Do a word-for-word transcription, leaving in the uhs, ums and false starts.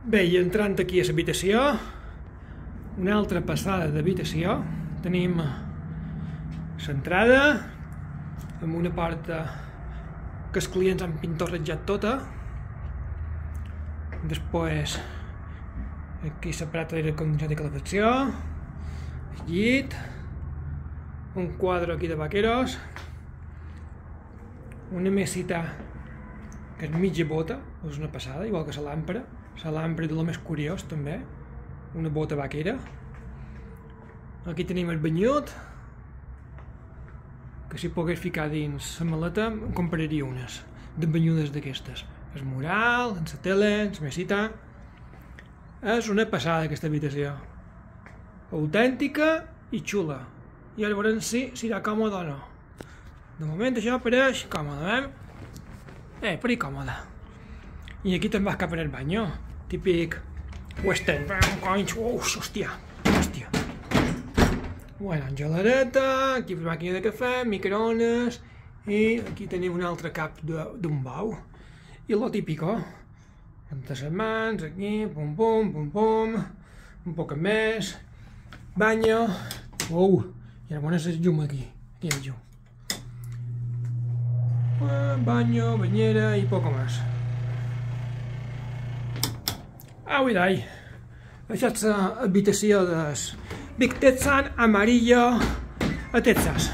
Bé, i entrant aquí a l'habitació, una altra passada d'habitació, tenim l'entrada, amb una porta que els clients han pintorrejat tota. Després, aquí l'aparat d'aire condicionat i calefacció, el llit, un quadre aquí de vaqueros, una mesita que és mitja bota, és una passada, igual que la làmpara. La làmpara de lo més curiós també, una bota vaquera. Aquí tenim el banyut, que si pogués ficar dins la maleta en compraria unes de banyudes d'aquestes. El mural, en la tele, en la mesita. És una passada aquesta habitació, autèntica i xula. I ara veurem si serà còmode o no. De moment això pareix còmode, eh? Eh, per còmode. I aquí te'n vas cap en el banyo, típic western. Uf, hòstia, hòstia. Bueno, geladeta, aquí la màquina de cafè, microones, i aquí tenim un altre cap d'un bau. I lo típico, rentar les mans, aquí, pum pum, pum pum, un poc més, banyo, uau, i ara pones el llum aquí, aquí hi ha el llum. Banyo, banyera i poc més. Au i dai, això és l'habitació del Big Texan Amarillo a Texas.